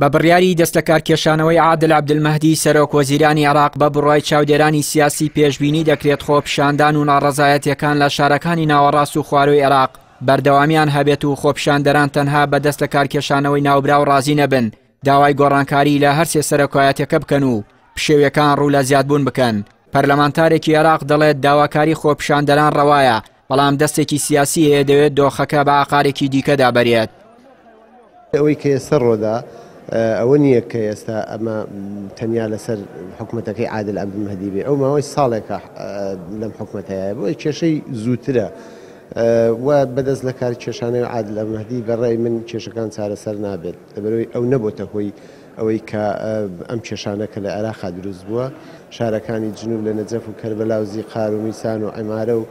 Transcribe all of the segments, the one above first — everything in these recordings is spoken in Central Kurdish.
بە بڕیاری دەستلەکارکێشانەوەی عادل عەبدولمەهدی سەرۆک وەزیرانی عێراق بە بڕوای چاودێرانی سیاسی پێشبینی دەکرێت خۆپیشاندان و ناڕەزایەتیەکان لە شارەکانی ناوەڕاست و خوارووی عێراق بەردەوامیان هەبێت و خۆپیشاندەران تەنها بە دەست لەکارکێشانەوەی ناوبراو ڕازی نەبن داوای گۆڕانکاری لە هەرسێ سەرۆکایەتیەکە بکەن و پشێویەکان ڕوو لە زیادبوون بکەن. پەرلەمانتارێکی عێراق دەڵێت داواکاری خۆپیشاندەران ڕەوایە، بەڵام دەستێکی سیاسی هەیە دەوێت دۆخەکە بە ئاقارێکی دیکەدا بەرێت. ئەوەی کە ئێستا ڕۆدا ئەوە نییە کە ئێستا ئەمە تەنیا لەسەر حکومەتەکەی عادل عەبدولمەهدی بێ، ئەو ماوەی ساڵێکە لەم حکومەتەیە، بۆیە کێشەی زووترە و بەدەست لەکار کێشانەوەی عادل عەبدولمەهدی بە ڕای من کێشەکان چارەسەر نابێت، لەبەرئەوەی ئەو نەبۆتە هۆی ئەوەی کە ئەم کێشانە کە لە عێراقا دروست بووە، شارەکانی جنوب لە نەجەف و کەربەلا و زیقار و میسان و عمارە و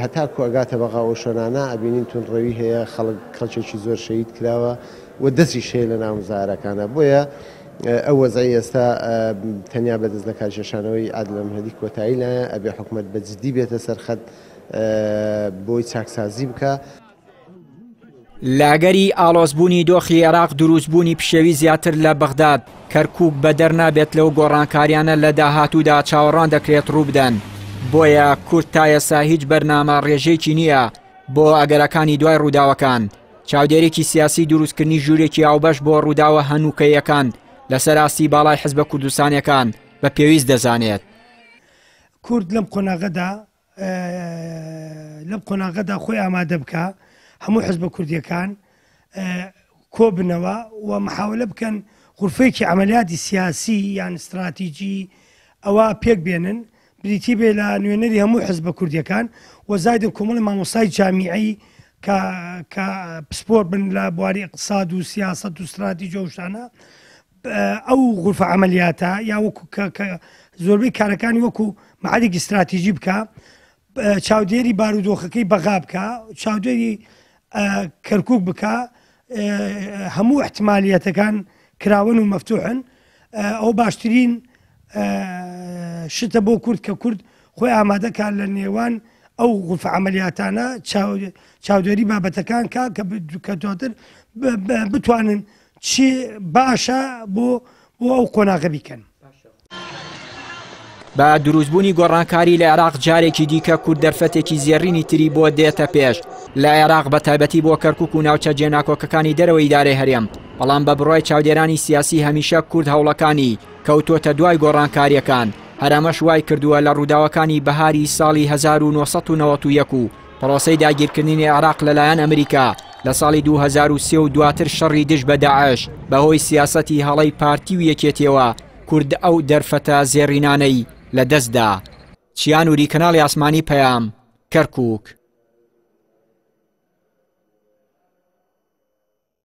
هەتاکو ئەگاتە بەغا ئەو شوێنانە ئەبینین توندڕەوی هەیە، خەڵک خەڵکێکی زۆر شەهید کراوە و دەستیش هەیە لە ناو مزاهەرەکانا. بۆیە ئەو وەزعەی ئێستا تەنیا بە دەست لەکارکێشانەوەی عادل ئەلمەهدی کۆتایی نایە، ئەبێ حکومەت بە جدی بێتە سەر خەت بۆی چاکسازی بکا. لە ئەگەری ئاڵۆزبوونی دۆخی عێراق دروستبوونی پشێوی زیاتر لە بەغداد، کەرکووک بەدەر نابێت لەو گۆڕانکاریانە لە داهاتوودا چاوەڕوان دەکرێت ڕووبدەن، بۆیە کورد تا ئێستا هیچ بەرنامە ڕێژێکی نییە بۆ ئەگەرەکانی دوای ڕووداوەکان. چاودێرێکی سیاسی دروستکردنی ژوورێکی هاوبەش بۆ ڕووداوە هەنووکەییەکان لەسەر ئاستی باڵای حزبە کوردستانیەکان بە پێویست دەزانێت. کورد لەم قۆناغەدا لەم قۆناغەدا خۆی ئامادە بکا، هەموو حزبە کوردیەکان کۆبنەوە و محاولە بکەن غورفەیەکی عەمەلیاتی سیاسی یان ستراتیجی ئەوە پێک بێنن، بریتی بێ لە نوێنەری هەموو حزبە کوردیەکان و زایدن کۆمەڵی مامۆستای جامیعی کە کە پسپۆر بن لە بواری ئیقتساد و سیاسەت و ستراتیجی و شتانە ئەو غورفە عەمەلیاتە یا وەکو کە کە زۆربەی کارەکانی وەکو مەعەدێکی ستراتیژی بکە چاودێری بارودۆخەکەی بەغا بکە چاودێری کەرکک بکە هەموو احتمالیەتەکان کراون و مەفتوحن ئەو باشترین شتە بۆ کورد کە کورد خۆی ئامادەکە لە نێوان ئەو غورفە عەمەلیاتانە چاودێری بابەتەکان کا کە دواتر بتوانن چی باشە بۆ بۆ ئەو قۆناغە بیکەن. بە دروستبوونی گۆڕانکاری لە عێراق جارێکی دیکە کورد دەرفەتێکی زێڕینی تری بۆ دێتە پێش لە عێراق بە تایبەتی بۆ کەرکک و ناوچە جێناکۆکەکانی دەرەوەی ئیدارەی هەرێم بەڵام بە بڕوای چاودێرانی سیاسی هەمیشە کورد هەوڵەکانی کەوتۆتە دوای گۆڕانکاریەکان هەر ئەمەش وای کردووە لە ڕووداوەکانی بەهاری ساڵی 1991 و پرۆسەی داگیرکردنی عێراق لەلایەن ئەمریکا لە ساڵی 2003 و دواتر شەڕی دژ بە داعش بەهۆی سیاسەتی هەڵەی پارتی و یەکێتیەوە کورد ئەو دەرفەتە زێڕینانەی لە دەستدا. چیا نوری کەناڵی ئاسمانی پەیام، کەرکوک.